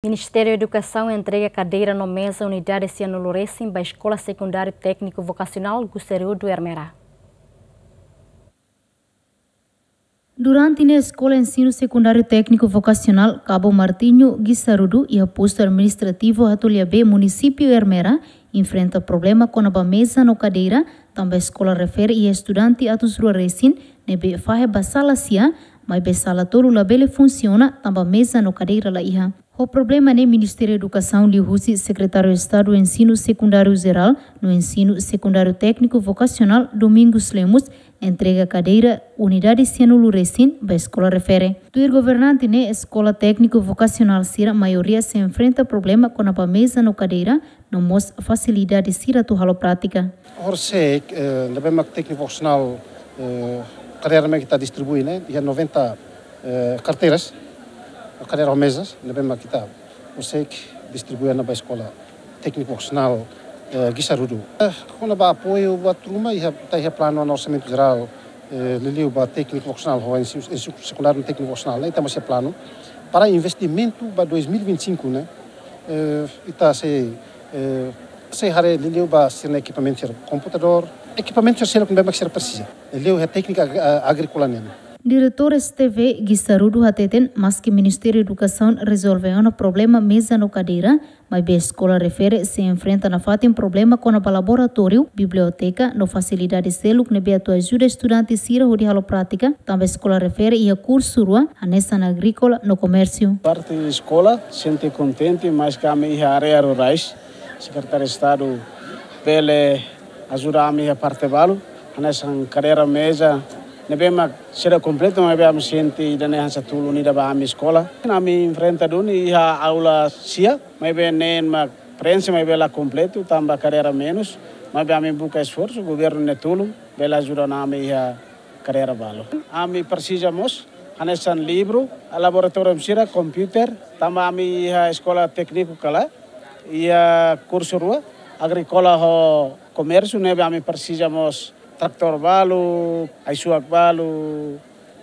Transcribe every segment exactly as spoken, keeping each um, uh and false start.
Ministériu Edukasaun entrega kadeira no meza unidade sianulu resin ba Eskola Sekundáriu Tékniku Vokasionál Guissarudu Ermera. Durante ne'e Eskola Ensinu Sekundáriu Tékniku Vokasionál Cabo Martinho Guissarudu iha postu administrativu Atulha B, munisípiu Ermera, enfrenta problema kona-ba meza no kadeira, tanba eskola refere iha estudante atus rua resin, ne'ebé fahe ba sala sia, maibé sala tolu labele funsiona, tanba meza no kadeira la iha. Ho problema ne'e Ministériu Edukasaun liuhusi Sekretáriu Estadu Ensinu Sekundáriu Jerál no Ensinu Sekundáriu Tékniku Vokasionál Domingos Lemos entrega kadeira unidade sianulu resin ba eskola refere. Tuir governante ne'e eskola tékniku vokasionál sira maioria sei enfrenta problema kona-ba meza no kadeira, no mós fasilidade sira atu halo prátika. Horisehik, eh, ne'ebé mak tékniku vokasionál, eh, kadeira mak ita distribui ne'e, iha noventa, eh, karteiras, kadeira ho mezas, ne'ebé mak ita horisehik distribui ona ba eskola tékniku vokasionál, eh, Guissarudu. Eh, kona-ba apoiu buat ruma, iha, ita iha planu ona orsamentu jerál, eh, liuliu ba tékniku vokasionál, ho ensinu, ensinu sekundáriu tékniku vokasionál, ne'e ita mós iha planu para investimentu ba dois mil e vinte e cinco ne'e, eh, ita sei, eh, sei haree liuliu ba sira-nia ekipamentu sira, komputadór, ekipamentu sira seluk ne'ebé mak sira presiza. Liuliu iha téknika ag-, a-, agríkola nian. Diretór S T V Guissarudu hateten, maski Ministériu Edukasaun rezolve ona problema meza no kadeira, maibé eskola refere sei enfrenta nafatin problema kona-ba laboratóriu, biblioteka, no fasilidade seluk ne'ebé atu ajuda estudante sira hodi halo prátika, tanba eskola refere iha kursu rua, hanesan agríkola no komérsiu. Parte eskola sente kontente, maski ami iha área rurais, Sekretáriu Estadu bele ajuda ami iha parte balu, hanesan kadeira meza, ne'ebé mak seidauk kompletu, maibé ami sente ida-ne'e hanesan tulun ida ba ami eskola. Ami enfrenta duni iha aula sia, maibé neen mak preenxe, maibé la kompletu, tanba kadeira menus, maibé ami buka esforsu, governu nia tulun, bele ajuda ona ami iha kadeira balu. Ami presiza mós, hanesan livru, laboratóriu sira, komputadór, tanba ami iha eskola tékniku kala, iha kursu rua, agríkola ho komérsiu, ne'ebé ami presiza mós tratór balu, ai-suak balu,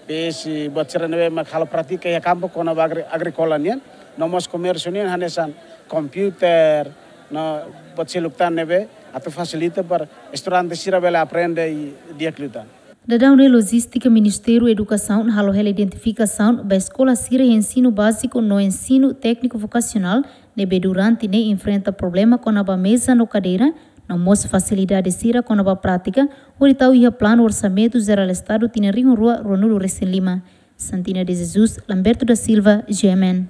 PS, buat sira ne'ebé mak halo prátika iha kampu kona-ba agri-, agríkola nian, no mós komérsiu nian, hanesan komputadór, no buat seluk tan ne'ebé, atu fasilita para estudante sira bele aprende i di'ak liután. Daudaun ne'e lojístika Ministériu Edukasaun halo hela identifikasaun ba eskola sira ensinu báziku no ensinu tékniku vokasionál ne'ebé durante ne'e enfrenta problema kona-ba meza no kadeira, no mós fasilidade sira kona-ba prátika, hodi tau iha planu orsamentu jerál Estadu tinan rihun rua ruanulu resin lima. Santina de Jesus, Lamberto da Silva, G M N.